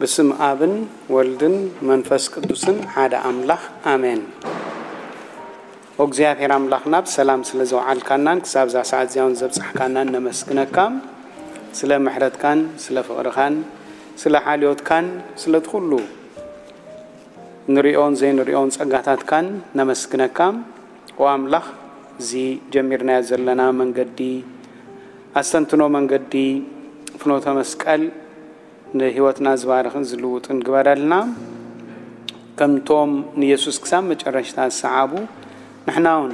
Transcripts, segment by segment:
ብስም ኣብን ወልድን መንፈስ ቅዱስን ሓደ ኣምላኽ ኣሜን። ኦ እግዚኣብሔር ኣምላኽና፣ ብሰላም ስለ ዘውዓልካናን ክሳብ እዛ ሰዓት እዚኣ እውን ዘብጻሕካናን ነመስግነካ። ስለ ምሕረትካን ስለ ፍቕርኻን ስለ ሓልዮትካን ስለቲ ኩሉ ንሪኦን ዘይንሪኦን ጸጋታትካን ነመስግነካ። ኦ ኣምላኽ፣ እዚ ጀሚርናዮ ዘለና መንገዲ ኣስተንትኖ መንገዲ ፍኖተ መስቀል ንህይወትና ዝባርኽን ዝልውጥን ግበረልና። ከምቶም ንየሱስ ክሳብ መጨረሽታ ዝሰዓቡ፣ ንሕና እውን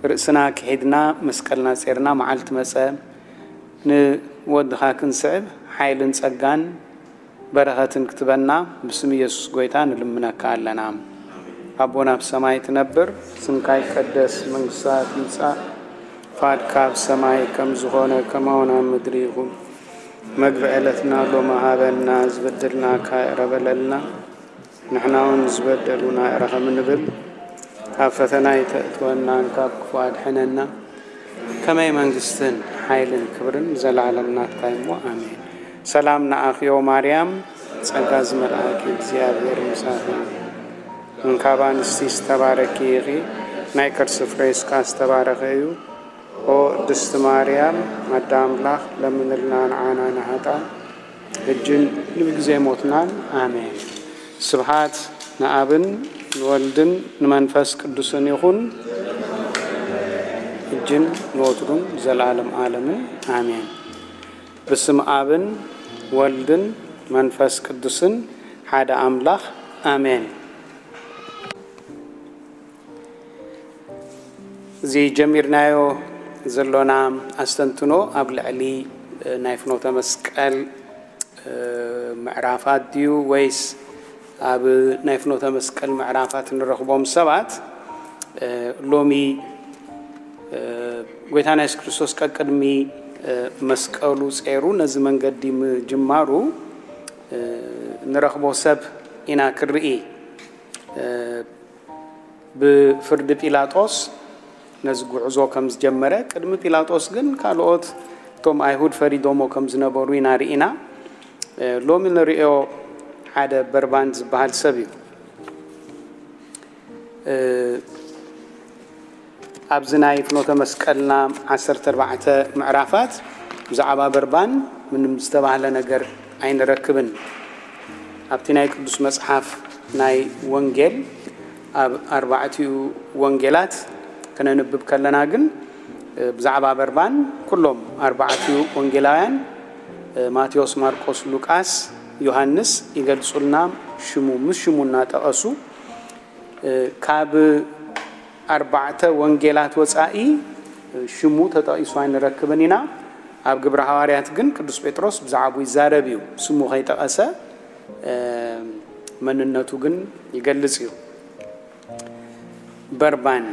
ርእስና ክሒድና መስቀልና ጼርና፣ መዓልቲ መጸ ንወድኻ ክንስዕብ ሓይልን ጸጋን በረኸትን ክትበና ብስም ኢየሱስ ጎይታ ንልምነካ ኣለና። ኣቦና ኣብ ሰማይ ትነብር፣ ስምካ ይቀደስ፣ መንግስታ ትምጻእ፣ ፍቃድካ ኣብ ሰማይ ከም ዝኾነ ከማውን ኣብ ምድሪ ይኹን። መግቢ ዕለትና ሎሚ ሃበና፣ ዝበደልናካ ይቕረ በለልና፣ ንሕና እውን ዝበደሉና ይቕረ ከም እንብል፣ ኣብ ፈተና ኣይተእትወና፣ ካብ ክፉእ ኣድሕነና። ከመይ መንግስትን ሓይልን ክብርን ንዘለዓለም ናትካ እዩ እሞ፣ ኣሜን። ሰላም ንኣኺዮ ማርያም፣ ጸጋ ዝመልኣኪ እግዚኣብሔር ምሳኺ፣ እንካብ ኣንስቲ ዝተባረኪ ኢኺ፣ ናይ ከርሲ ፍሬ ስጋ ዝተባረኸ እዩ። ኦ ቅድስቲ ማርያም ኣደ ኣምላኽ፣ ለምንልና ንዓና ንሃጣን፣ ሕጅን ንብግዜ ሞትናን። ኣሜን። ስብሃት ንኣብን ንወልድን ንመንፈስ ቅዱስን ይኹን፣ ሕጅን ንወትሩን ዘለዓለም ዓለምን። ኣሜን። ብስም ኣብን ወልድን መንፈስ ቅዱስን ሓደ ኣምላኽ። ኣሜን። እዚ ጀሚርናዮ ዘሎና ኣስተንትኖ ኣብ ልዕሊ ናይ ፍኖተ መስቀል ምዕራፋት ድዩ ወይስ ኣብ ናይ ፍኖተ መስቀል ምዕራፋት እንረኽቦም ሰባት ሎሚ ጎይታና የሱስ ክርስቶስ ቀቅድሚ መስቀሉ ጼሩ ነዚ መንገዲ ምጅማሩ ንረኽቦ ሰብ ኢና ክርኢ። ብፍርዲ ጲላጦስ ነዚ ጉዕዞ ከም ዝጀመረ፣ ቅድሚ ጲላጦስ ግን ካልኦት እቶም ኣይሁድ ፈሪዶሞ ከም ዝነበሩ ኢና ርኢና። ሎሚ ንርእዮ ሓደ በርባን ዝበሃል ሰብ እዩ። ኣብዚ ናይ ፍኖተ መስቀልና ዓሰርተ ኣርባዕተ ምዕራፋት ብዛዕባ በርባን ምንም ዝተባህለ ነገር ኣይንረክብን። ኣብቲ ናይ ቅዱስ መጽሓፍ ናይ ወንጌል ኣብ ኣርባዕቲኡ ወንጌላት ክነንብብ ከለና ግን ብዛዕባ በርባን ኩሎም ኣርባዕቲኡ ወንጌላውያን ማቴዎስ፣ ማርቆስ፣ ሉቃስ፣ ዮሃንስ ይገልጹልና። ሽሙ ምስ ሽሙ እናጠቐሱ ካብ ኣርባዕተ ወንጌላት ወጻኢ ሽሙ ተጠቒሱ ኣይንረክብን ኢና። ኣብ ግብረ ሃዋርያት ግን ቅዱስ ጴጥሮስ ብዛዕባኡ ይዛረብ እዩ። ስሙ ከይጠቐሰ መንነቱ ግን ይገልጽ እዩ። በርባን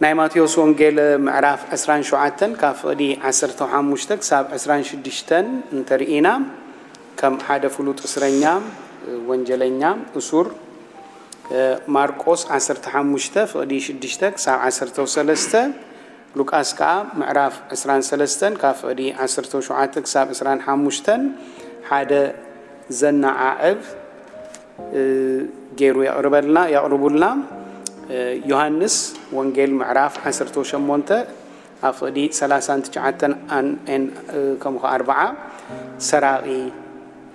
ናይ ማቴዎስ ወንጌል ምዕራፍ ዕስራን ሸውዓተን ካብ ፍቕዲ ዓሰርተ ሓሙሽተ ክሳብ ዕስራን ሽዱሽተን እንተርኢና ከም ሓደ ፍሉጥ እስረኛ፣ ወንጀለኛ፣ እሱር፣ ማርቆስ ዓሰርተ ሓሙሽተ ፍቕዲ ሽዱሽተ ክሳብ ዓሰርተ ሰለስተ፣ ሉቃስ ከኣ ምዕራፍ ዕስራን ሰለስተን ካብ ፍቕዲ ዓሰርተ ሸውዓተ ክሳብ ዕስራን ሓሙሽተን ሓደ ዘነዓዕብ ገይሩ የቕርበልና፣ የቕርቡልና። ዮሃንስ ወንጌል ምዕራፍ ዓሰርተ ሸሞንተ ኣብ ፍቕዲ ሰላሳን ትሽዓተን ኣን ኤን ከምኡ ከኣ ኣርብዓ ሰራቒ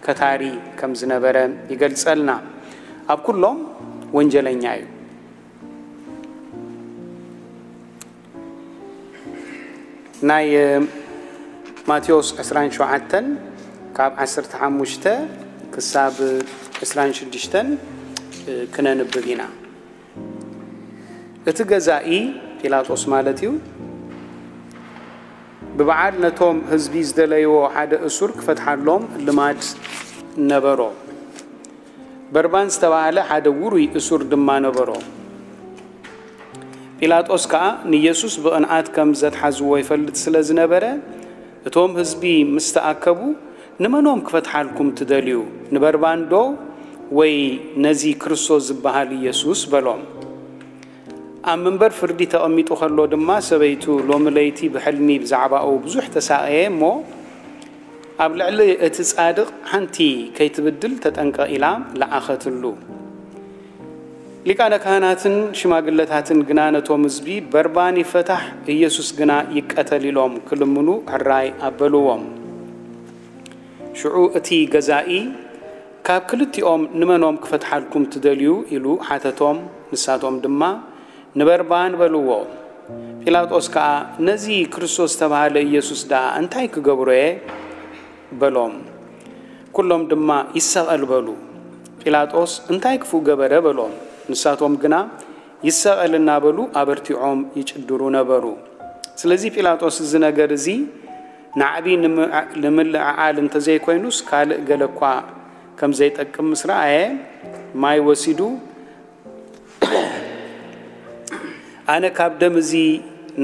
ከታሪ ከም ዝነበረ ይገልጸልና። ኣብ ኩሎም ወንጀለኛ እዩ። ናይ ማቴዎስ ዕስራን ሸውዓተን ካብ ዓሰርተ ሓሙሽተ ክሳብ ዕስራን ሽዱሽተን ክነንብብ ኢና። እቲ ገዛኢ ጲላጦስ ማለት እዩ፣ ብበዓል ነቶም ህዝቢ ዝደለይዎ ሓደ እሱር ክፈትሓሎም ልማድ ነበሮ። በርባን ዝተባህለ ሓደ ውሩይ እሱር ድማ ነበሮ። ጲላጦስ ከኣ ንየሱስ ብቕንኣት ከም ዘትሓዝዎ ይፈልጥ ስለ ዝነበረ፣ እቶም ህዝቢ ምስ ተኣከቡ፣ "ንመኖም ክፈትሓልኩም ትደልዩ? ንበርባን ዶ ወይ ነዚ ክርስቶስ ዝበሃል ኢየሱስ?" በሎም። ኣብ መንበር ፍርዲ ተቐሚጡ ከሎ ድማ ሰበይቱ ሎሚ ለይቲ ብሕልሚ ብዛዕባኡ ብዙሕ ተሳቐየ እሞ፣ ኣብ ልዕሊ እቲ ጻድቕ ሓንቲ ከይትብድል ተጠንቀቕ ኢላ ለኣኸትሉ። ሊቃነ ካህናትን ሽማግለታትን ግና ነቶም ህዝቢ፣ "በርባን ይፈታሕ፣ ኢየሱስ ግና ይቀተል" ኢሎም ክልምኑ ሕራይ ኣበልዎም። ሽዑ እቲ ገዛኢ፣ "ካብ ክልቲኦም ንመኖም ክፈትሓልኩም ትደልዩ?" ኢሉ ሓተቶም። ንሳቶም ድማ፣ "ንበርባን" በልዎ። ጲላጦስ ከኣ፣ "ነዚ ክርስቶስ ዝተባህለ ኢየሱስ ደኣ እንታይ ክገብሮ እየ?" በሎም። ኩሎም ድማ፣ "ይሰቐል" በሉ። ጲላጦስ፣ "እንታይ ክፉእ ገበረ?" በሎም። ንሳቶም ግና፣ "ይሰቐል" እናበሉ ኣበርቲዖም ይጭድሩ ነበሩ። ስለዚ ጲላጦስ፣ "እዚ ነገር እዚ ናዕቢ ንምዕ-፣ ንምልዕዓል እንተዘይኮይኑስ ካልእ ገለ እኳ ከም ዘይጠቅም ምስ ረኣየ፣ ማይ ወሲዱ፣ ኣነ ካብ ደም እዚ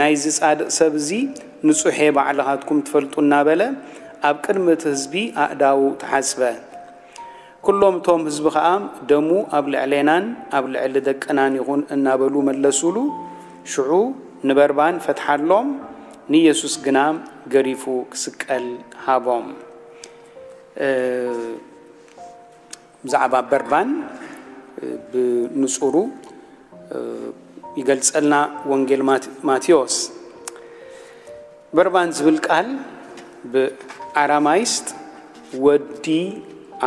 ናይዚ ጻድቕ ሰብ እዚ ንጹሕ እየ፣ ባዕልኻትኩም ትፈልጡ" እናበለ ኣብ ቅድሚ እቲ ህዝቢ ኣእዳዉ ተሓጽበ። ኩሎም እቶም ህዝቢ ኸኣ፣ "ደሙ ኣብ ልዕሌናን ኣብ ልዕሊ ደቅናን ይኹን" እናበሉ መለሱሉ። ሽዑ ንበርባን ፈትሓሎም፣ ንኢየሱስ ግና ገሪፉ ክስቀል ሃቦም። እ፣ ብዛዕባ በርባን፣ እ፣ ብንጹሩ፣ እ፣ ይገልጸልና ወንጌል ማት-፣ ማቴዎስ። በርባን ዝብል ቃል ብኣራማይስጥ ወዲ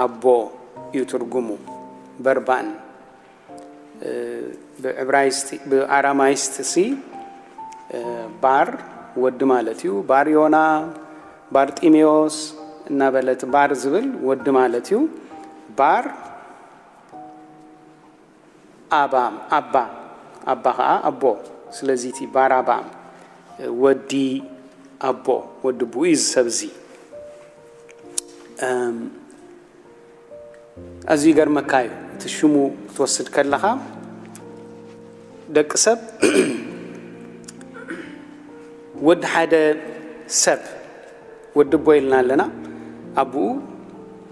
ኣቦ እዩ ትርጉሙ። በርባን፣ እ፣ ብዕብራይስጥ፣ ብኣራማይስጥ ሲ፣ እ፣ ባር ወዲ ማለት እዩ። ባር ዮና፣ ባርጢሜዎስ እናበለት ባር ዝብል ወዲ ማለት እዩ። ባር ኣባ፣ ኣባ፣ ኣባ ኸዓ ኣቦ። ስለዚ እቲ ባራባ ወዲ ኣቦ፣ ወዲ ኣቦ እዩ እዚ ሰብ እዚ። እም፣ ኣዝዩ ይገርመካ እዩ፣ እቲ ሽሙ ክትወስድ ከለኻ፣ ደቂ ሰብ፣ ወዲ ሓደ ሰብ፣ ወዲ ኣቦ ኢልና ኣለና። ኣቦኡ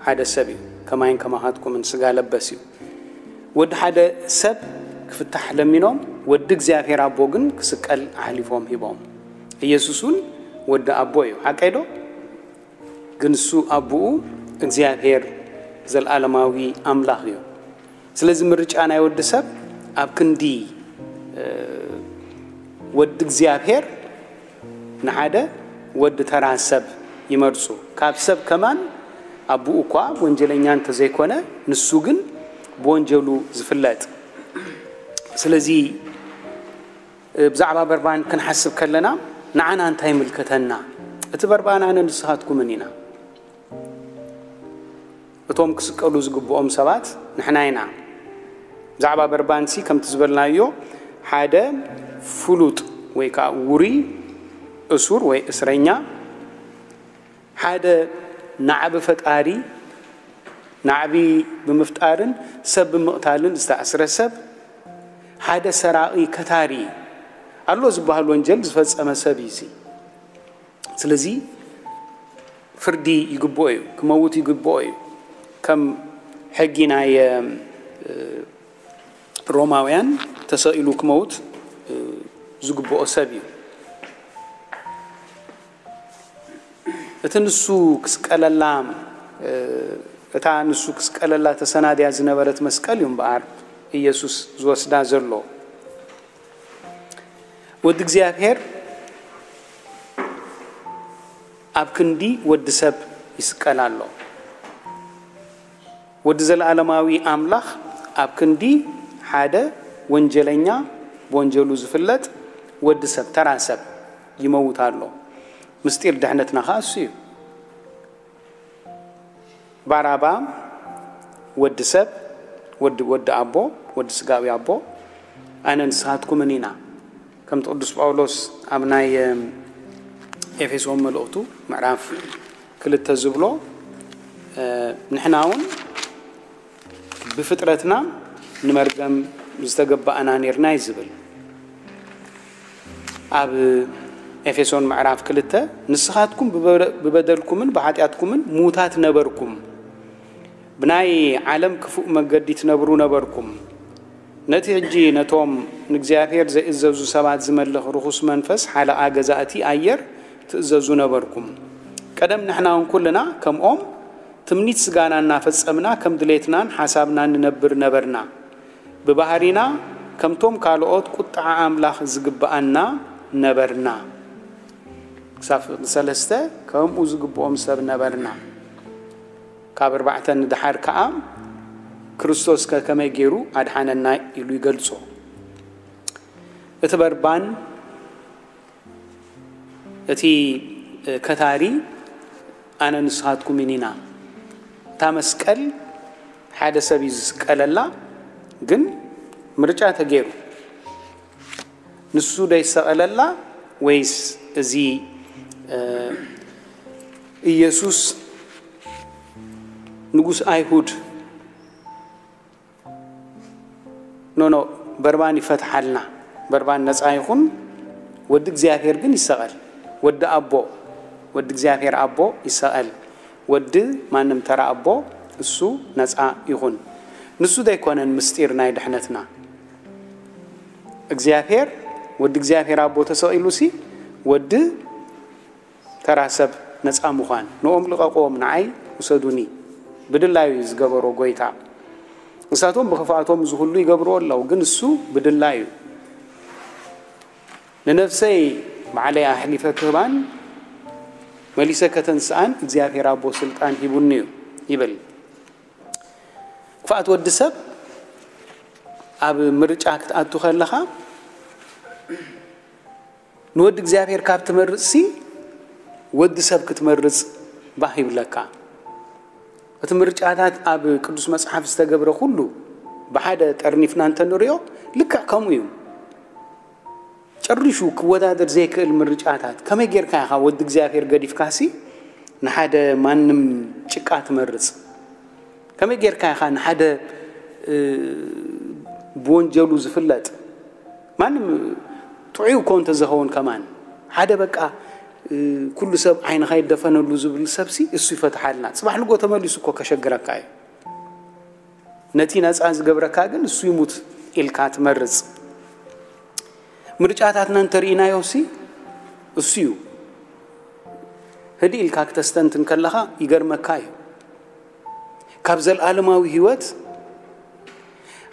ሓደ ሰብ እዩ፣ ከማይን ከማኻትኩምን ስጋ ለበስ እዩ። ወዲ ሓደ ሰብ ክፍታሕ ለሚኖም፣ ወዲ እግዚኣብሔር ኣቦ ግን ክስቀል ኣሕሊፎም ሂቦም። ኢየሱስ እውን ወዲ ኣቦ እዩ። ሓቀይ ዶ? ግን እሱ ኣቦኡ እግዚኣብሔር ዘለዓለማዊ ኣምላኽ እዩ። ስለዚ ምርጫ ናይ ወዲ ሰብ ኣብ ክንዲ፣ እ፣ ወዲ እግዚኣብሔር ንሓደ ወዲ ተራ ሰብ ይመርጹ። ካብ ሰብ ከማን ኣቦኡ እኳ ወንጀለኛ እንተዘይኮነ፣ ንሱ ግን ብወንጀሉ ዝፍለጥ። ስለዚ ብዛዕባ በርባን ክንሓስብ ከለና፣ ንዓና እንታይ ይምልከተና? እቲ በርባን ኣነ ንስኻትኩምን ኢና። እቶም ክስቀሉ ዝግብኦም ሰባት ንሕና ኢና። ብዛዕባ በርባንሲ ከምቲ ዝበልናዮ፣ ሓደ ፍሉጥ ወይ ከዓ ውሩይ እሱር ወይ እስረኛ፣ ሓደ ናዕቢ ፈጣሪ፣ ናዕቢ ብምፍጣርን ሰብ ብምቕታልን ዝተኣስረ ሰብ፣ ሓደ ሰራቒ ከታሪ፣ ኣሎ ዝበሃል ወንጀል ዝፈጸመ ሰብ እዩ እዚ። ስለዚ ፍርዲ ይግብኦ እዩ፣ ክመውት ይግብኦ እዩ። ከም ሕጊ ናይ፣ እ፣ ሮማውያን ተሰቒሉ ክመውት፣ እ፣ ዝግብኦ ሰብ እዩ። እቲ ንሱ ክስቀለላ፣ እ፣ እታ ንሱ ክስቀለላ ተሰናድያ ዝነበረት መስቀል እዩ እምበኣር ኢየሱስ ዝወስዳ ዘሎ። ወዲ እግዚኣብሔር ኣብ ክንዲ ወዲ ሰብ ይስቀል ኣሎ። ወዲ ዘለዓለማዊ ኣምላኽ ኣብ ክንዲ ሓደ ወንጀለኛ፣ ብወንጀሉ ዝፍለጥ ወዲ ሰብ፣ ተራ ሰብ ይመውት ኣሎ። ምስጢር ድሕነትና ኸኣ እሱ እዩ። ባራባ ወዲ ሰብ፣ ወዲ፣ ወዲ ኣቦ፣ ወዲ ስጋዊ ኣቦ፣ ኣነ ንስኻትኩምን ኢና። ከምቲ ቅዱስ ጳውሎስ ኣብ ናይ፣ እም፣ ኤፌሶን መልእኽቱ ምዕራፍ ክልተ ዝብሎ፣ እ፣ ንሕና እውን ብፍጥረትና ንመርገም ዝተገባእና ኔርና እዩ ዝብል። ኣብ ኤፌሶን ምዕራፍ ክልተ፣ "ንስኻትኩም ብበደ-፣ ብበደልኩምን ብሓጢኣትኩምን ምዉታት ነበርኩም፣ ብናይ ዓለም ክፉእ መገዲ ትነብሩ ነበርኩም፣ ነቲ ሕጂ ነቶም ንእግዚኣብሔር ዘይእዘዙ ሰባት ዝመልኽ ርኹስ መንፈስ ሓለቓ ገዛእቲ ኣየር ትእዘዙ ነበርኩም። ቀደም ንሕና እውን ኩልና ከምኦም ትምኒት ስጋና እናፈጸምና ከም ድሌትናን ሓሳብናን ንነብር ነበርና። ብባህሪና ከምቶም ካልኦት ቁጥዓ ኣምላኽ ዝግብኣና ነበርና። ክሳብ ሰለስተ ከምኡ ዝግብኦም ሰብ ነበርና። ካብ ኣርባዕተ ንደሓር ከኣ ክርስቶስ ከ ከመይ ገይሩ ኣድሓነና ኢሉ ይገልጾ። እቲ በርባን እቲ ከታሪ ኣነ ንስኻትኩምን ኢና። እታ መስቀል ሓደ ሰብ እዩ ዝስቀለላ፣ ግን ምርጫ ተገይሩ። ንሱ ዶ ይሰቐለላ ወይስ እዚ ኢየሱስ ንጉስ ኣይሁድ ኖኖ በርባን ይፈትሓልና። በርባን ነፃ ይኹን። ወዲ እግዚኣብሔር ግን ይሰቐል። ወዲ ኣቦ ወዲ እግዚኣብሔር ኣቦ ይሰቐል። ወዲ ማንም ተራ ኣቦ እሱ ነፃ ይኹን። ንሱ ዘይኮነን ምስጢር ናይ ድሕነትና እግዚኣብሔር ወዲ እግዚኣብሔር ኣቦ ተሰቒሉ ሲ ወዲ ተራ ሰብ ነፃ ምዃን። ንኦም ልቐቕዎም ንዓይ ውሰዱኒ ብድላዩ እዩ ዝገበሮ ጎይታ። ንሳቶም ብኽፍኣቶም እዚ ኩሉ ይገብርዎ ኣለዉ፣ ግን እሱ ብድላዩ ንነፍሰይ ባዕለይ ኣሕሊፈ ክህባን መሊሰ ከተንስኣን እግዚኣብሔር ኣቦ ስልጣን ሂቡኒ እዩ ይብል። ክፍኣት ወዲ ሰብ ኣብ ምርጫ ክትኣቱ ከለኻ ንወዲ እግዚኣብሔር ካብ ትመርጽሲ ወዲ ሰብ ክትመርጽ ባህ ይብለካ። እቲ ምርጫታት ኣብ ቅዱስ መጽሓፍ ዝተገብረ ኩሉ ብሓደ ጠርኒፍና እንተንሪኦ ልክዕ ከምኡ እዩ። ጨሪሹ ክወዳደር ዘይክእል ምርጫታት። ከመይ ጌርካ ኢኻ ወዲ እግዚኣብሔር ገዲፍካሲ ንሓደ ማንም ጭቃ ትመርጽ? ከመይ ጌርካ ኢኻ ንሓደ ብወንጀሉ ዝፍለጥ ማንም ጥዑይ እኮ እንተዝኸውን ከማን ሓደ በቃ ኩሉ ሰብ ዓይንኻ ይደፈነሉ ዝብል ሰብሲ እሱ ይፈትሓልና። ጽባሕ ንጎ ተመሊሱ እኮ ከሸግረካ እዩ። ነቲ ነፃ ዝገብረካ ግን እሱ ይሙት ኢልካ ትመርጽ። ምርጫታትና እንተርኢናዮሲ እሱ እዩ። ህድእ ኢልካ ክተስተንትን ከለኻ ይገርመካ እዩ። ካብ ዘልኣለማዊ ህይወት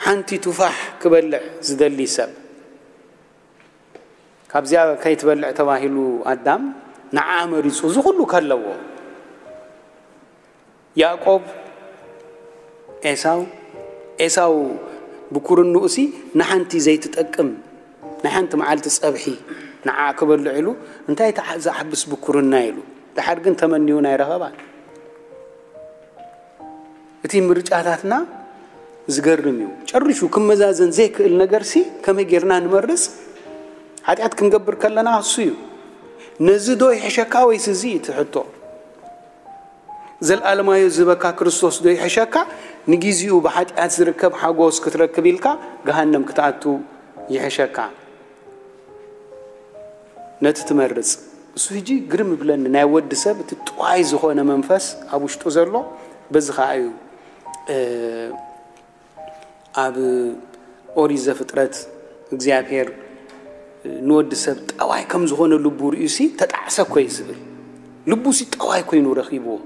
ሓንቲ ቱፋሕ ክበልዕ ዝደሊ ሰብ ካብዚኣ ከይትበልዕ ተባሂሉ ኣዳም ንዓ መሪጹ እዚ ኩሉ ከለዎ ያዕቆብ ኤሳው ኤሳው ብኩርንኡሲ ንሓንቲ ዘይትጠቅም ናይ ሓንቲ መዓልቲ ጸብሒ ንዓ ክበልዕ ኢሉ እንታይ ዝዓብስ ብኩርና ኢሉ ድሓር ግን ተመንዩ ናይ ረኸባን እቲ ምርጫታትና ዝገርም እዩ። ጨሪሹ ክመዛዘን ዘይክእል ነገርሲ ከመይ ጌርና ንመርጽ? ሓጢኣት ክንገብር ከለና እሱ እዩ። ነዚ ዶ ይሕሸካ ወይስ እዚ እዩ እቲ ሕቶ? ዘልኣለማዮ ዝህበካ ክርስቶስ ዶ ይሕሸካ? ንጊዜኡ ብሓጢኣት ዝርከብ ሓጎስ ክትረክብ ኢልካ ገሃነም ክትኣቱ ይሕሸካ? ነቲ ትመርጽ። እሱ ሕጂ ግርም ይብለኒ ናይ ወዲ ሰብ እቲ ጥዋይ ዝኾነ መንፈስ ኣብ ውሽጡ ዘሎ በዚ ኸዓ እዩ ኣብ ኦሪት ዘፍጥረት እግዚኣብሔር ንወዲ ሰብ ጠዋይ ከም ዝኾነ ልቡ ርእዩሲ ተጣዕሰ እኮ እዩ ዝብል። ልቡሲ ጠዋይ ኮይኑ ረኺብዎ።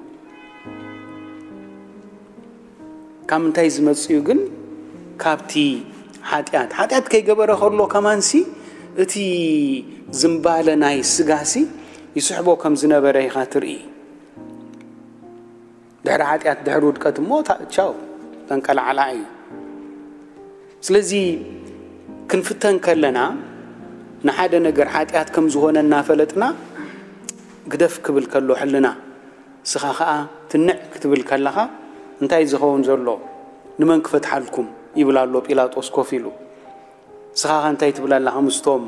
ካብ ምንታይ ዝመጽእ እዩ ግን? ካብቲ ሓጢኣት። ሓጢኣት ከይገበረ ከሎ ከማንሲ እቲ ዝምባለ ናይ ስጋሲ ይስሕቦ ከም ዝነበረ ኢኻ ትርኢ። ድሕሪ ሓጢኣት ድሕሪ ውድቀት እሞ ቻው ተንቀላዕላ እዩ። ስለዚ ክንፍተን ከለና ንሓደ ነገር ሓጢኣት ከም ዝኾነ እናፈለጥና ግደፍ ክብል ከሎ ሕልና ስኻ ኸኣ ትንዕ ክትብል ከለኻ እንታይ ዝኸውን ዘሎ ንመን ክፈትሓልኩም ይብል ኣሎ ጲላጦስ ኮፍ ኢሉ። ስኻ ኸ እንታይ ትብል ኣለኻ ምስቶም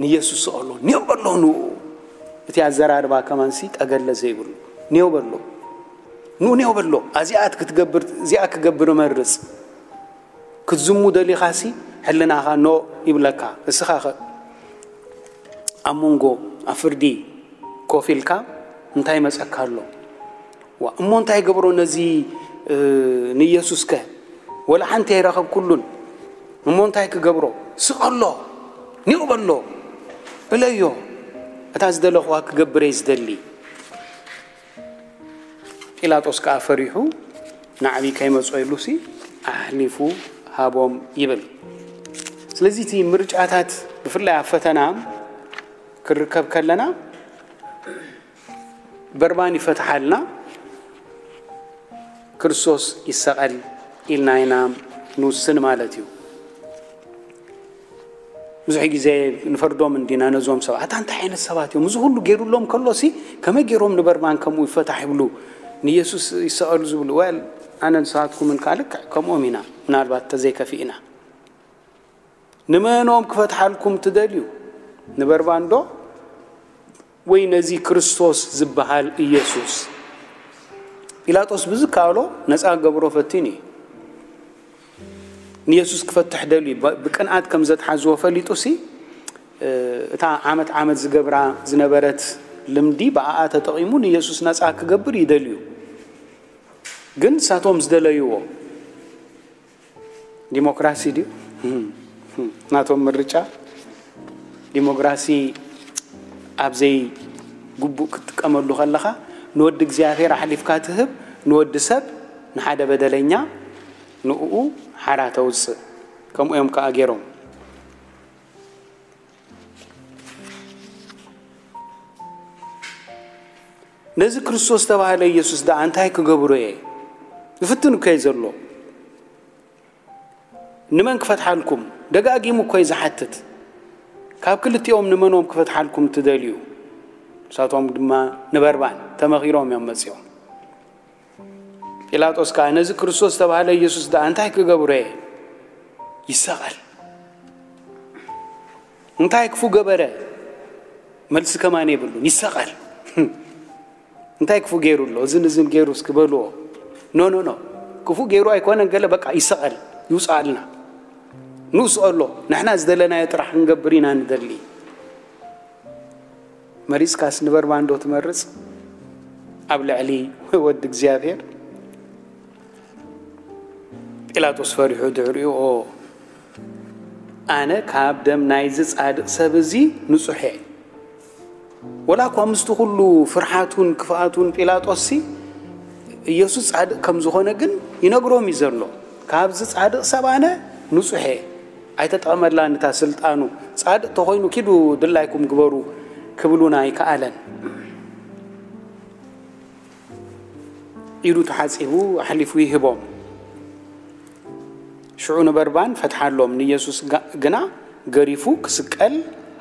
ንየሱስ ስቐሎ ኔው በሎ ንኡ። እቲ ኣዘራርባ ከማንሲ ጠገለ ዘይብሉ ኔው በሎ ንኡ ኔው በሎ። ኣዚኣት ክትገብር እዚኣ ክገብር እመርጽ ክትዝሙ ደሊኻሲ ሕልናኻ ኖ ይብለካ። እስኻ ኸ ኣብ መንጎ ኣብ ፍርዲ ኮፍ ኢልካ እንታይ መጸካ ኣሎ? ዋ እሞ እንታይ ገብሮ ነዚ ንኢየሱስከ ወላ ሓንቲ ኣይረኸብኩሉን። እሞ እንታይ ክገብሮ? ስቐሎ፣ ኒቕ በሎ፣ እለዮ። እታ ዝደለኹዋ ክገብር እየ ዝደሊ። ጲላጦስ ከኣ ፈሪሑ፣ ናዕቢ ከይመጾ ኢሉሲ ኣሕሊፉ ሃቦም ይብል። ስለዚ እቲ ምርጫታት፣ ብፍላይ ኣብ ፈተና ክንርከብ ከለና፣ በርባን ይፈትሓልና፣ ክርስቶስ ይሰቐል ኢልና ኢና ንውስን ማለት እዩ። ብዙሕ ግዜ ንፈርዶም እንዲና ነዞም ሰባት፣ ኣታ እንታይ ዓይነት ሰባት እዮም? እዚ ኩሉ ገይሩሎም ከሎሲ ከመይ ገይሮም ንበርባን ከምኡ ይፈታሕ ይብሉ፣ ንየሱስ ይሰቐሉ ዝብሉ? ወል፣ ኣነ ንስኻትኩምን ከኣ ልክዕ ከምኦም ኢና፣ ምናልባት ተዘይከፊእና። ንመኖም ክፈትሓልኩም ትደልዩ? ንበርባን ዶ ወይ ነዚ ክርስቶስ ዝበሃል ኢየሱስ? ጲላጦስ ብዝከኣሎ ነጻ ክገብሮ ፈቲኑ እዩ። ንየሱስ ክፈትሕ ደልዩ፣ ብ-፣ ብቅንኣት ከም ዘትሓዝዎ ፈሊጡሲ፣ እ፣ እታ ዓመት ዓመት ዝገብራ ዝነበረት ልምዲ ብኣኣ ተጠቒሙ ንየሱስ ነጻ ክገብር ይደልዩ። ግን ንሳቶም ዝደለይዎ ዲሞክራሲ ድዩ? ናቶም ምርጫ። ዲሞክራሲ ኣብ ዘይግቡእ ክትጥቀመሉ ከለኻ፣ ንወዲ እግዚኣብሔር ኣሕሊፍካ ትህብ፣ ንወዲ ሰብ፣ ንሓደ በደለኛ፣ ንእኡ ሓራ ተውጽእ። ከምኡ እዮም ከኣ ገይሮም። ነዚ ክርስቶስ ዝተባህለ ኢየሱስ ደኣ እንታይ ክገብሮ እየ? ዝፍትን እኮ እዩ ዘሎ። ንመን ክፈትሓልኩም? ደጋጊሙ እኮ እዩ ዝሓትት። ካብ ክልቲኦም ንመኖም ክፈትሓልኩም ትደልዩ? ንሳቶም ድማ ንበርባን ተመኺሮም እዮም መጺኦም። ጲላጦስ ከኣ ነዚ ክርስቶስ ዝተባህለ ኢየሱስ ደኣ እንታይ ክገብሮ እየ? ይሰቐል። እንታይ ክፉ ገበረ? መልሲ ከማን የብሉን። ይሰቐል። እንታይ ክፉ ገይሩ ኣሎ? እዝን እዝን ገይሩ እስኪ በልዎ። ኖ፣ ኖ፣ ኖ። ክፉ ገይሩ ኣይኮነን፣ ገለ በቃ ይሰቐል፣ ይውፅኣልና። ንስቐሎ። ንሕና ዝደለናዮ ጥራሕ ክንገብር ኢና ንደሊ። መሪጽካስ ንበርባን ዶ ትመርጽ? ኣብ ልዕሊ ወዲ እግዚኣብሔር? ጲላጦስ ፈሪሑ ድሕሪኡ፣ ኦ፣ ኣነ ካብ ደም ናይዚ ጻድቕ ሰብ እዚ ንጹሕ እየ። ወላ እኳ ምስቲ ኩሉ ፍርሓቱን ክፍኣቱን ጲላጦስሲ ኢየሱስ ጻድቕ ከም ዝኾነ ግን ይነግሮም እዩ ዘሎ። ካብዚ ጻድቕ ሰብ ኣነ ንጹሕ እየ። ኣይተጠቐመላን እታ ስልጣኑ። ጻድቕ ተኾይኑ ኪዱ ድላይኩም ግበሩ ክብሉን ኣይከኣለን። ኢዱ ተሓጺቡ ኣሕሊፉ ይህቦም። ሽዑ ንበርባን ፈትሓሎም፣ ንኢየሱስ ጋ-፣ ግና ገሪፉ ክስቀል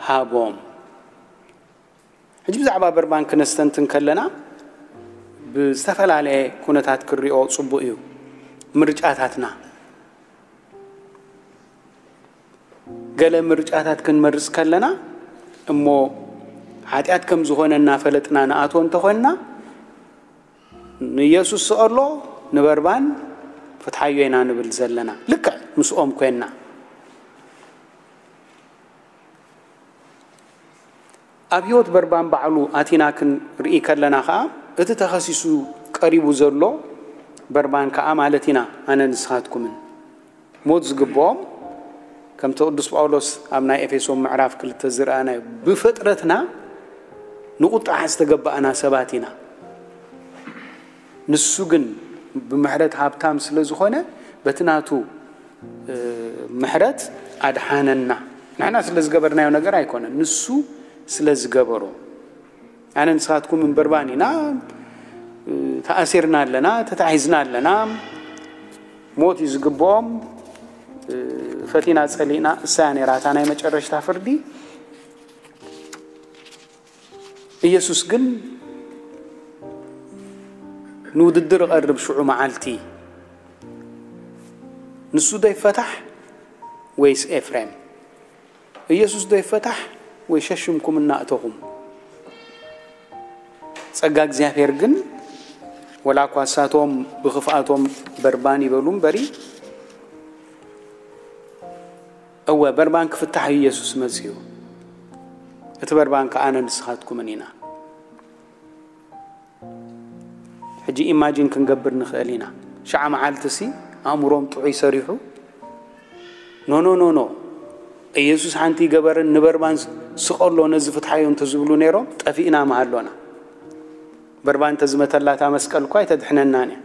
ሃቦም። ሕጂ ብዛዕባ በርባን ክነስተንትን ከለና ብዝተፈላለየ ኩነታት ክሪኦ ጽቡቕ እዩ። ምርጫታትና፣ ገለ ምርጫታት ክንመርጽ ከለና እሞ ሓጢኣት ከም ዝኾነ እናፈለጥና ንኣትዎ እንተኾንና፣ ንኢየሱስ ስቐሎ፣ ንበርባን ፍትሓዮ ኢና ንብል ዘለና። ልክዕ ምስኦም ኮይንና። ኣብ ህይወት በርባን ባዕሉ ኣቲና ክንርኢ ከለና ኸኣ፣ እቲ ተኸሲሱ ቀሪቡ ዘሎ በርባን ከኣ ማለት ኢና፣ ኣነ ንስኻትኩምን። ሞት ዝግብኦም፣ ከምቲ ቅዱስ ጳውሎስ ኣብ ናይ ኤፌሶን ምዕራፍ ክልተ ዝረኣናዮ፣ ብፍጥረትና ንቁጥዓ ዝተገባእና ሰባት ኢና። ንሱ ግን ብምሕረት ሃብታም ስለ ዝኾነ፣ በቲ ናቱ፣ እ፣ ምሕረት ኣድሓነና። ንሕና ስለ ዝገበርናዮ ነገር ኣይኮነን፣ ንሱ ስለ ዝገበሮ። ኣነ ንስኻትኩም እምበርባን ኢና፣ እ፣ ተኣሲርና ኣለና፣ ተታሒዝና ኣለና። ሞት እዩ ዝግብኦም። እ፣ ፈቲና ጸሊእና፣ እሳ እያ ነይራ እታ ናይ መጨረሽታ ፍርዲ። ኢየሱስ ግን ንውድድር እቐርብ ሽዑ መዓልቲ። ንሱ ዶ ይፈታሕ ወይስ ኤፍሬም? ኢየሱስ ዶ ይፈታሕ ወይ ሸሽምኩም እናእተኹም? ጸጋ እግዚኣብሔር ግን፣ ወላ እኳ እሳቶም ብኽፍኣቶም በርባን ይበሉ እምበሪ፣ እወ፣ በርባን ክፍታሕ እዩ ኢየሱስ መጺኡ። እቲ በርባን ከኣ ኣነ ንስኻትኩምን ኢና። ሕጂ ኢማጂን ክንገብር ንኽእል ኢና። ሽዓ መዓልትሲ ኣእምሮም ጥዑይ ሰሪሑ፣ ኖ ኖ ኖ ኖ፣ ኢየሱስ ሓንቲ ይገበርን ንበርባን ስቐሎ ነዚ ፍትሓዮ እንተዝብሉ ነይሮም፣ ጠፊእና ምሃሎና። በርባን እንተዝመተላታ መስቀል እኳ ኣይተድሕነናን እያ።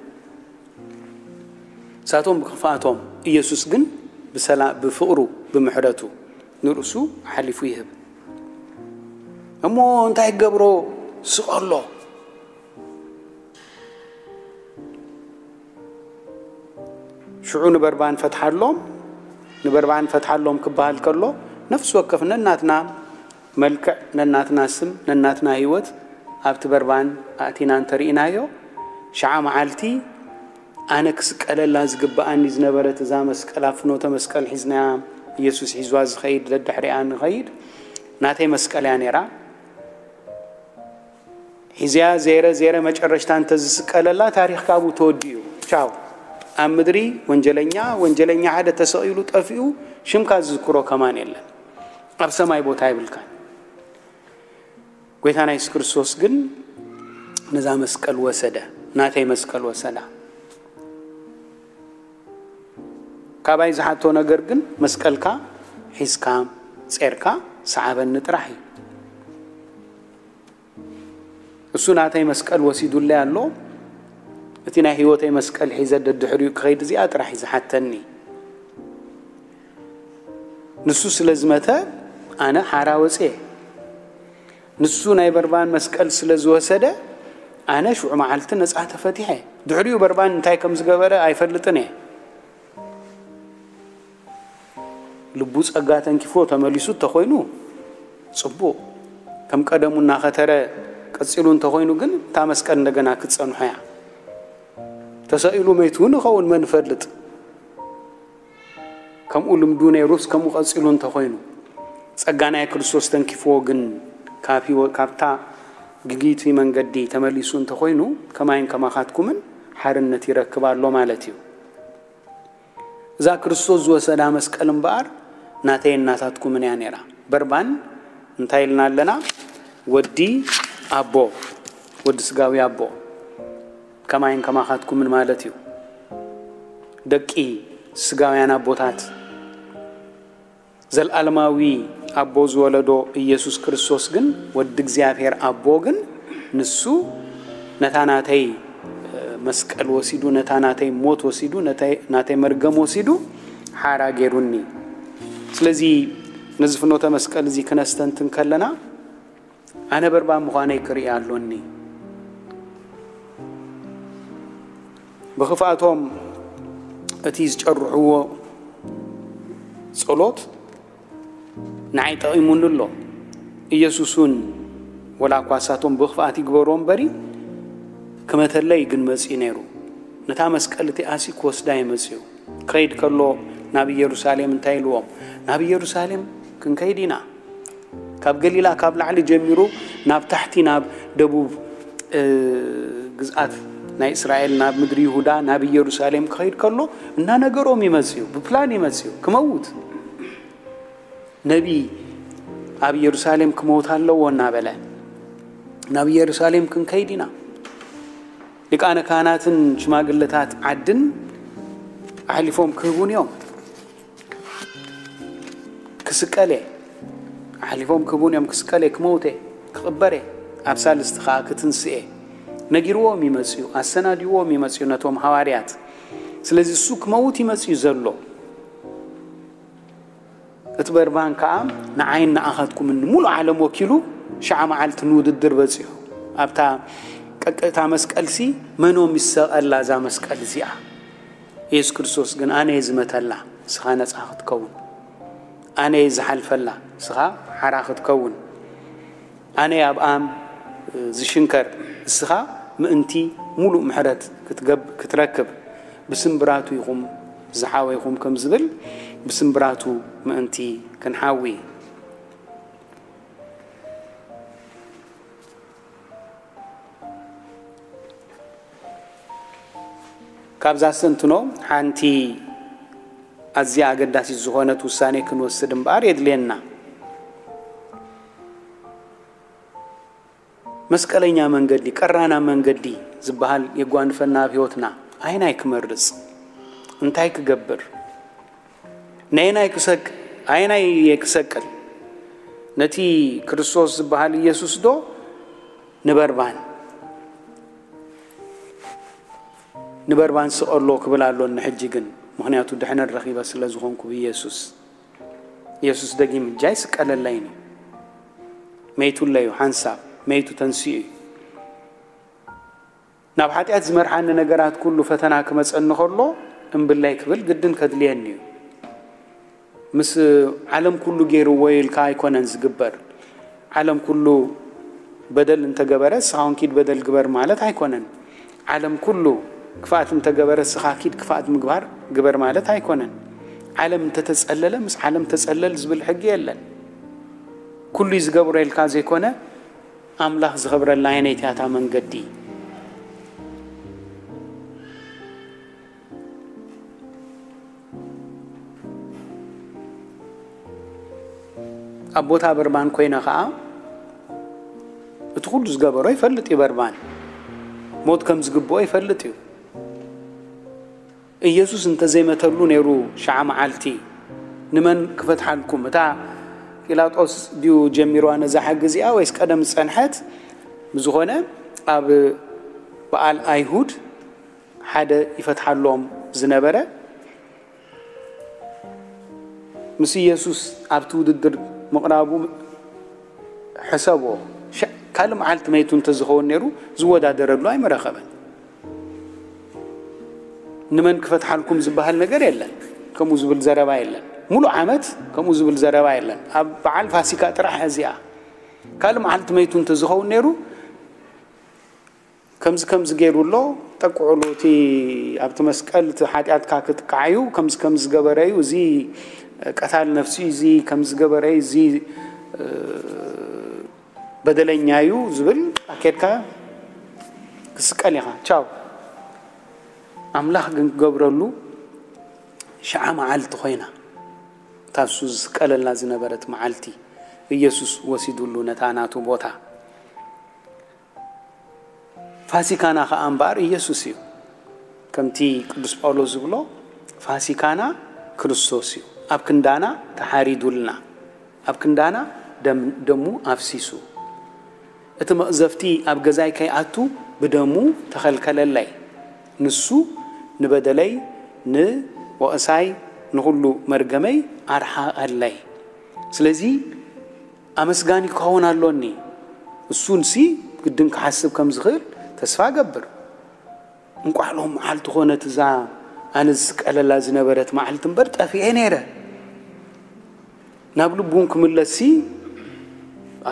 ንሳቶም ብክፍኣቶም፣ ኢየሱስ ግን ብሰላ ብፍቕሩ ብምሕረቱ ንርእሱ ሓሊፉ ይህብ። እሞ እንታይ ክገብሮ? ስቐሎ። ሽዑ ንበርባን ፈትሓሎም። ንበርባን ፈትሓሎም ክበሃል ከሎ፣ ነፍሲ ወከፍ ነናትና መልክዕ፣ ነናትና ስም፣ ነናትና ህይወት ኣብቲ በርባን ኣእቲና እንተርኢናዮ፣ ሸዓ መዓልቲ ኣነ ክስቀለላ ዝግብኣኒ ዝነበረት እዛ መስቀል፣ ኣብ ፍኖተ መስቀል ሒዝናያ፣ ኢየሱስ ሒዝዋ ዝኸይድ፣ ደድሕሪኣ ንኸይድ፣ ናተይ መስቀል እያ ነይራ። ሒዝያ ዜረ ዜረ መጨረሽታ እንተዝስቀለላ፣ ታሪኽ ካብኡ ተወዲኡ። ቻው። ኣብ ምድሪ ወንጀለኛ፣ ወንጀለኛ ሓደ ተሰቒሉ ጠፊኡ፣ ሽምካ ዝዝክሮ ከማን የለን። ኣብ ሰማይ ቦታ ይብልካን። ጎይታና የሱስ ክርስቶስ ግን ነዛ መስቀል ወሰደ፣ ናተይ መስቀል ወሰዳ። ካባይ ዝሓቶ ነገር ግን፣ መስቀልካ ሒዝካ ጼርካ ሰዓበኒ ጥራሕ እዩ። እሱ ናተይ መስቀል ወሲዱለይ ኣሎ። እቲ ናይ ህይወተይ መስቀል ሒዘ ደድሕሪኡ ክኸይድ እዚኣ ጥራሕ እዩ ዝሓተኒ። ንሱ ስለ ዝመተ ኣነ ሓራ ወፅየ። ንሱ ናይ በርባን መስቀል ስለ ዝወሰደ ኣነ ሽዑ መዓልቲ ነፃ ተፈቲሐ። ድሕሪኡ በርባን እንታይ ከም ዝገበረ ኣይፈልጥን እየ። ልቡ ጸጋ ተንኪፎ ተመሊሱ እንተኾይኑ ጽቡቕ፣ ከም ቀደሙ እናኸተረ ቀጺሉ እንተኾይኑ ግን እታ መስቀል እንደገና ክትጸንሖ እያ። ተሰቒሉ መይቱ እውን ይኸውን፣ መን ይፈልጥ? ከምኡ ልምዱ ነይሩስ ከምኡ ቀጺሉ እንተኾይኑ፣ ጸጋ ናይ ክርስቶስ ተንኪፍዎ ግን ካብ ህይወ-፣ ካብታ ግግይቲ መንገዲ ተመሊሱ እንተኾይኑ፣ ከማይን ከማኻትኩምን ሓርነት ይረክብ ኣሎ ማለት እዩ። እዛ ክርስቶስ ዝወሰዳ መስቀል እምበኣር ናተይን ናታትኩምን እያ ነይራ። በርባን እንታይ ኢልና ኣለና? ወዲ ኣቦ፣ ወዲ ስጋዊ ኣቦ፣ ከማይን ከማኻትኩምን ማለት እዩ። ደቂ ስጋውያን ኣቦታት፣ ዘልኣለማዊ ኣቦ ዝወለዶ ኢየሱስ ክርስቶስ ግን፣ ወዲ እግዚኣብሔር ኣቦ ግን፣ ንሱ ነታ ናተይ መስቀል ወሲዱ፣ ነታ ናተይ ሞት ወሲዱ፣ ነተይ-፣ ናተይ መርገም ወሲዱ ሓራ ገይሩኒ። ስለዚ ነዚ ፍኖተ መስቀል እዚ ክነስተንትን ከለና፣ ኣነ በርባን ምዃነይ ክርኢ ኣሎኒ። ብኽፍኣቶም እቲ ዝጨርሕዎ ጸሎት ንዓይ ጠቒሙኒ ኣሎ። ኢየሱስ እውን ወላ እኳ እሳቶም ብኽፍኣት ይግበርዎ እምበሪ፣ ክመተለይ ግን መጺኡ ነይሩ። ነታ መስቀል እቲኣሲ ክወስዳ እዩ መጺኡ። ክኸይድ ከሎ ናብ ኢየሩሳሌም እንታይ ኢልዎም? ናብ ኢየሩሳሌም ክንከይድ ኢና። ካብ ገሊላ ካብ ላዕሊ ጀሚሩ ናብ ታሕቲ ናብ ደቡብ፣ እ፣ ግዝኣት ናይ እስራኤል ናብ ምድሪ ይሁዳ ናብ ኢየሩሳሌም ክኸይድ ከሎ እናነገሮም ይመጽኡ፣ ብፕላን ይመጽኡ። ክመውት ነቢ ኣብ ኢየሩሳሌም ክመውት ኣለዎ እናበለ ናብ ኢየሩሳሌም ክንከይድ ኢና። ሊቃነ ካህናትን ሽማግለታት ዓድን ኣሕሊፎም ክህቡን እዮም። ክስቀል እየ፣ ኣሕሊፎም ክህቡን እዮም። ክስቀል እየ፣ ክመውት እየ፣ ክቕበር እየ፣ ኣብ ሳልስቲ ኸዓ ክትንስእ እየ። ነጊርዎም ይመጽኡ፣ ኣሰናዲዎም ይመጽኡ ነቶም ሃዋርያት። ስለዚ እሱ ክመውት ይመጽኡ ዘሎ። እቲ በርባን ከኣ ንዓይን ንኣኻትኩምን ንሙሉእ ዓለም ወኪሉ ሸዓ መዓልቲ ንውድድር በጺሑ። ኣብታ ቀቅእታ መስቀልሲ መኖም ይሰቐላ እዛ መስቀል እዚኣ? የሱስ ክርስቶስ ግን ኣነ እየ ዝመተላ፣ ንስኻ ነጻ ክትከውን። ኣነ እየ ዝሓልፈላ፣ ንስኻ ሓራ ክትከውን። ኣነ ኣብ ኣም ዝሽንከር፣ እስኻ ምእንቲ ሙሉእ ምሕረት ክትገብ-፣ ክትረክብ፣ ብስምብራቱ ኢኹም ዝሓወይኹም ከም ዝብል፣ ብስምብራቱ ምእንቲ ክንሓዊ። ካብዛ ኣስተንትኖ ሓንቲ ኣዝያ ኣገዳሲት ዝኾነት ውሳኔ ክንወስድ እምበኣር የድልየና። መስቀለኛ መንገዲ፣ ቀራና መንገዲ ዝበሃል የጓንፈና ኣብ ህይወትና። ኣይናይ ክመርጽ? እንታይ ክገብር? ነየናይ ክሰቅ-፣ ኣየናይ እየ ክሰቅል? ነቲ ክርስቶስ ዝበሃል ኢየሱስ ዶ ንበርባን? ንበርባን ስቐሎ ክብል ኣሎኒ ሕጂ ግን፣ ምኽንያቱ ድሕነት ረኺበ ስለ ዝኾንኩ ብኢየሱስ። ኢየሱስ ደጊም ሕጂ ኣይስቀለለይን እዩ። መይቱለይ እዩ፣ ሓንሳብ መይቱ ተንሲኡ እዩ። ናብ ሓጢኣት ዝመርሓኒ ነገራት ኩሉ ፈተና ክመጸኒ ከሎ፣ እምብለይ ክብል ግድን ከድልየኒ እዩ። ምስ ዓለም ኩሉ ገይርዎ ኢልካ ኣይኮነን ዝግበር። ዓለም ኩሉ በደል እንተገበረ፣ እስኻ እውን ኪድ በደል ግበር ማለት ኣይኮነን። ዓለም ኩሉ ክፍኣት እንተገበረ፣ እስኻ ኪድ ክፍኣት ምግባር ግበር ማለት ኣይኮነን። ዓለም እንተተጸለለ፣ ምስ ዓለም ተጸለል ዝብል ሕጊ የለን። ኩሉ እዩ ዝገብሮ ኢልካ ዘይኮነ፣ ኣምላኽ ዝኸብረላ ኣየነይቲ እያ እታ መንገዲ? ኣብ ቦታ በርባን ኮይነ ኸኣ፣ እቲ ኩሉ ዝገበሮ ይፈልጥ እዩ። በርባን ሞት ከም ዝግብኦ ይፈልጥ እዩ። ኢየሱስ እንተዘይመተሉ ነይሩ፣ ሸዓ መዓልቲ ንመን ክፈትሓልኩም? እታ ጲላጦስ ድዩ ጀሚርዋ ነዛ ሕጊ እዚኣ፣ ወይስ ቀደም ዝጸንሐት? ብዝኾነ፣ ኣብ በዓል ኣይሁድ ሓደ ይፈትሓሎም ዝነበረ፣ ምስ ኢየሱስ ኣብቲ ውድድር ምቕራቡ ሕሰቦ። ሸ-፣ ካልእ መዓልቲ መይቱ እንተዝኸውን ነይሩ፣ ዝወዳደረሉ ኣይምረኸበን። ንመን ክፈትሓልኩም ዝበሃል ነገር የለን። ከምኡ ዝብል ዘረባ የለን። ሙሉእ ዓመት ከምኡ ዝብል ዘረባ የለን። ኣብ በዓል ፋሲካ ጥራሕ እዚኣ። ካልእ መዓልቲ መይቱ እንተዝኸውን ነይሩ፣ ከምዚ ከምዚ ገይሩ ኣሎ፣ ጠቅዑሉ፣ እቲ ኣብቲ መስቀል እቲ ሓጢኣትካ ክጥቃዕ እዩ፣ ከምዚ ከምዚ ዝገበረ እዩ፣ እዚ ቀታል ነፍሲ እዩ፣ እዚ ከምዚ ዝገበረ እዩ፣ እዚ፣ እ፣ በደለኛ እዩ ዝብል ኣኬድካ ክስቀል ኢኻ። ቻው። ኣምላኽ ግን ክገብረሉ ሸዓ መዓልቲ ኮይና፣ እታ እሱ ዝስቀለላ ዝነበረት መዓልቲ፣ ኢየሱስ ወሲዱሉ ነታ ናቱ ቦታ። ፋሲካና ኸኣ እምበኣር ኢየሱስ እዩ። ከምቲ ቅዱስ ጳውሎስ ዝብሎ፣ ፋሲካና ክርስቶስ እዩ። ኣብ ክንዳና ተሓሪዱልና፣ ኣብ ክንዳና ደም-፣ ደሙ ኣፍሲሱ። እቲ መቕዘፍቲ ኣብ ገዛይ ከይኣቱ ብደሙ ተኸልከለለይ። ንሱ ንበደለይ፣ ንወቕሳይ፣ ንኹሉ መርገመይ ኣርሓቐለይ። ስለዚ ኣመስጋኒ ክኸውን ኣሎኒ። እሱንሲ ግድን ክሓስብ ከም ዝኽእል ተስፋ እገብር። እንቋዕ ሎም መዓልቲ ኾነት እዛ ኣነ ዝስቀለላ ዝነበረት መዓልቲ እምበር፣ ጠፊኤ ነይረ። ናብ ልቡ እውን ክምለስሲ፣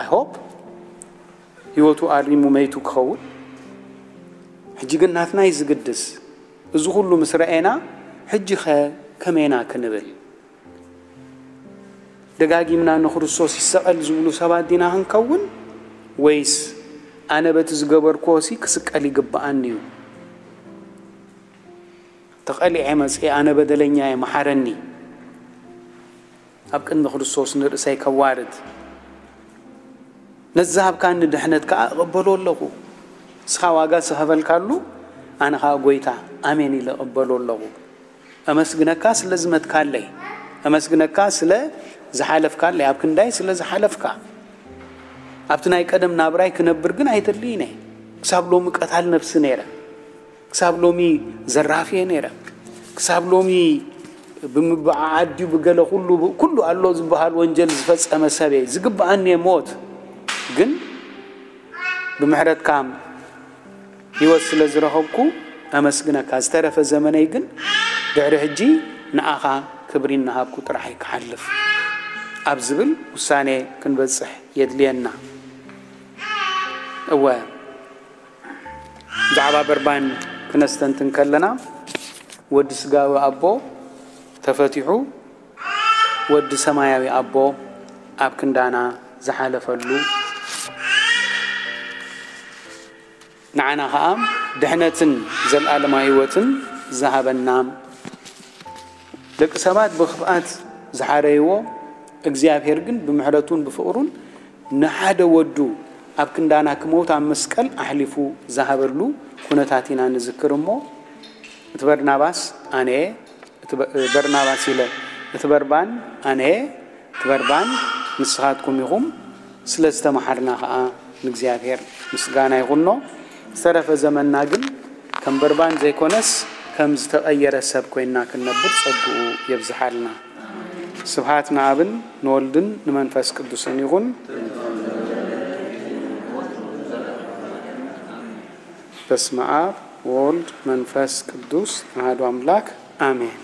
I hope፣ ህይወቱ ኣሪሙ መይቱ ክኸውን። ሕጂ ግን ናትና እዩ ዝግድስ። እዚ ኩሉ ምስ ረኤና፣ ሕጂኸ ከመይና ክንብል? ደጋጊምና ንክርስቶስ ይሰቐል ዝብሉ ሰባት ዲና ክንከውን? ወይስ ኣነ በቲ ዝገበርክዎሲ ክስቀል ይግብኣኒ እዩ? ተቐሊዐ መጺኤ ኣነ በደለኛ እየ፣ መሓረኒ። ኣብ ቅድሚ ክርስቶስ ንርእሰይ ከዋርድ። ነዚ ዝሃብካኒ ድሕነት ከኣ እቕበሎ ኣለኹ። ንስኻ ዋጋ ዝኸፈልካሉ፣ ኣነ ኸኣ ጎይታ፣ ኣሜን ኢለ እቕበሎ ኣለኹ። ኣመስግነካ ስለ ዝመትካለይ፣ ኣመስግነካ ስለ ዝሓለፍካለይ፣ ኣብ ክንዳይ ስለ ዝሓለፍካ። ኣብቲ ናይ ቀደም ናብራይ ክነብር ግን ኣይደልይን እየ። ክሳብ ሎሚ ቀታል ነፍሲ ነይረ። ክሳብ ሎሚ ዘራፊ እየ ነይረ። ክሳብ ሎሚ ብምብዓዓድ ድዩ ብገለ ኩሉ፣ ኩሉ ኣሎ ዝበሃል ወንጀል ዝፈጸመ ሰብ እየ። ዝግብኣኒ እየ ሞት። ግን ብምሕረትካ ህይወት ስለ ዝረኸብኩ ኣመስግነካ። ዝተረፈ ዘመነይ ግን ድሕሪ ሕጂ ንኣኻ ክብሪ እናሃብኩ ጥራሕ'የ ክሓልፍ ኣብ ዝብል ውሳኔ ክንበጽሕ የድልየና። እወ፣ ብዛዕባ በርባን ክነስተንትን ከለና፣ ወዲ ስጋዊ ኣቦ ተፈቲሑ፣ ወዲ ሰማያዊ ኣቦ ኣብ ክንዳና ዝሓለፈሉ፣ ንዓና ኸኣ ድሕነትን ዘለኣለማዊ ህይወትን ዝሃበና፣ ደቂ ሰባት ብኽፍኣት ዝሓረይዎ፣ እግዚኣብሔር ግን ብምሕረቱን ብፍቕሩን ንሓደ ወዱ ኣብ ክንዳና ክመውት ኣብ መስቀል ኣሕሊፉ ዝሃበሉ ኩነታት ኢና ንዝክር እሞ፣ እቲ በርናባስ ኣነ እየ፣ እቲ በ-፣ በርናባስ ኢለ፣ እቲ በርባን ኣነየ፣ እቲ በርባን ንስኻትኩም ኢኹም፣ ስለ ዝተመሓርና ኸዓ ንእግዚኣብሔር ምስጋና ይኹኖ። ዝተረፈ ዘመንና ግን ከም በርባን ዘይኮነስ ከም ዝተቐየረ ሰብ ኮይንና ክንነብር ጸግኡ የብዝሓልና። ስብሃት ንኣብን ንወልድን ንመንፈስ ቅዱስን ይኹን። በስመ ኣብ ወወልድ መንፈስ ቅዱስ ኣሐዱ ኣምላክ ኣሜን።